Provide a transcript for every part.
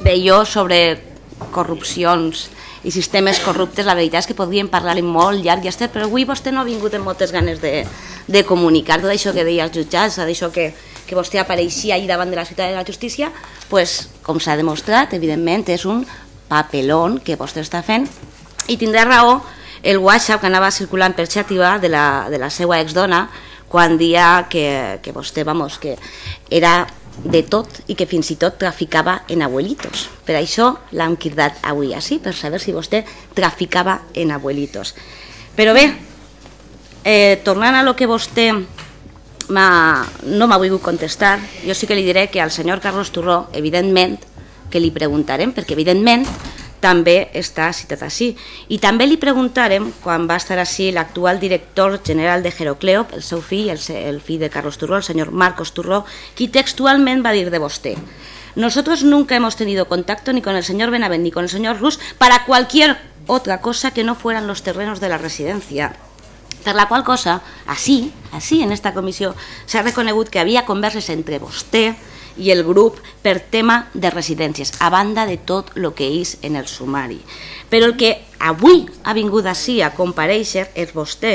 d'allò sobre corrupcions i sistemes corruptes, la veritat és que podríem parlar-hi molt llarg i estret, però avui vostè no ha vingut amb moltes ganes de comunicar tot això que deia els jutjats, d'això que vostè apareixia ahir davant de la ciutat de la justícia, pues, com s'ha demostrat, evidentment, és un papelón que vostè està fent, i tindrà raó el WhatsApp que anava circulant per xàtiva de la seva exdona quan dia que vostè, vamos, que era de tot i que fins i tot traficava en abuelitos. Per això l'hem cridat avui així, per saber si vostè traficava en abuelitos. Però bé, tornant a lo que vostè no m'ha volgut contestar, jo sí que li diré que al senyor Carlos Turró, evidentment, que li preguntarem, perquè evidentment també està citat així. I també li preguntarem, quan va estar així l'actual director general de Herocleo, el seu fill, el fill de Carlos Turró, el senyor Marcos Turró, qui textualment va dir de vostè: nosotros nunca hemos tenido contacto ni con el señor Benavent ni con el señor Rus para cualquier otra cosa que no fueran los terrenos de la residencia. Per la qual cosa, així, en esta comissió, s'ha reconegut que havia converses entre vostè i el grup per tema de residències, a banda de tot el que és en el sumari. Però el que avui ha vingut així a comparèixer és vostè,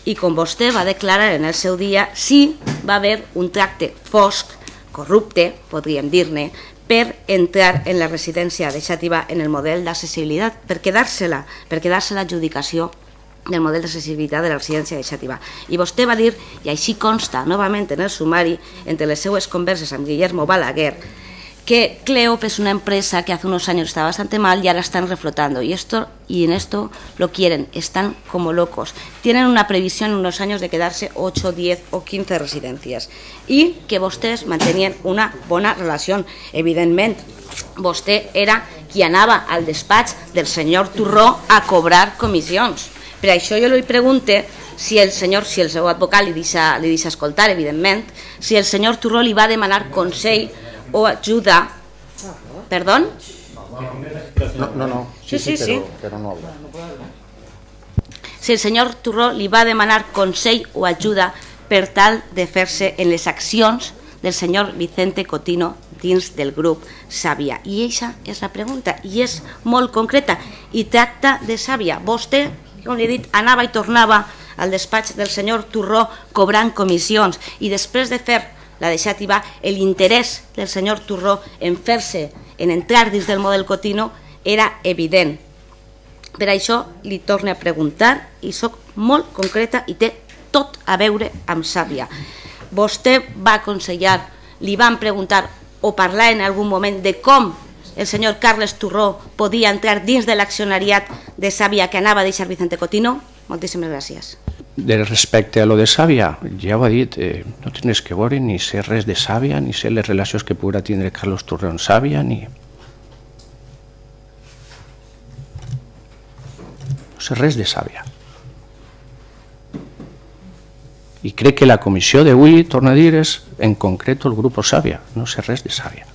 i com vostè va declarar en el seu dia, sí va haver un tracte fosc, corrupte, podríem dir-ne, per entrar en la residència de Xàtiva en el model d'accessibilitat, per quedar-se l'adjudicació del model d'accessibilitat de la residència de Xàtiva. I vostè va dir, i així consta novament en el sumari, entre les seues converses amb Guillermo Balaguer, que Cleop es una empresa que hace unos años estaba bastante mal y ahora están reflotando. Y en esto lo quieren, están como locos. Tienen una previsión en unos años de quedarse 8, 10 o 15 residencias. Y que vostès mantenien una bona relació. Evidentment, vostè era qui anava al despatx del senyor Turró a cobrar comissions. Per això jo li pregunto si el seu advocat li deixa escoltar, evidentment, si el senyor Turró li va demanar consell o ajuda. Perdó? No. Sí, però no habla. Si el senyor Turró li va demanar consell o ajuda per tal de fer-se en les accions del senyor Vicente Cotino dins del grup Sàvia. I aquesta és la pregunta, i és molt concreta, i tracta de Sàvia. Vostè, com li he dit, anava i tornava al despatx del senyor Turró cobrant comissions, i després de fer la de Xàtiva, l'interès del senyor Turró en fer-se, en entrar dins del model Cotino, era evident. Per això li torno a preguntar, i soc molt concreta i té tot a veure amb Sàvia. Vostè va aconsellar, li van preguntar o parlar en algun moment de com el senyor Carles Turró podia entrar dins de l'accionariat de Sàvia que anava a deixar Vicente Cotino? Moltíssimes gràcies. Respecte a lo de Sàvia, ja ho ha dit, no tens que veure ni ser res de Sàvia, ni ser les relacions que podrà tindre Carlos Turró amb Sàvia, ni... No sé res de Sàvia. I crec que la comissió d'avui, torna a dir, és en concret el grup Sàvia, no sé res de Sàvia.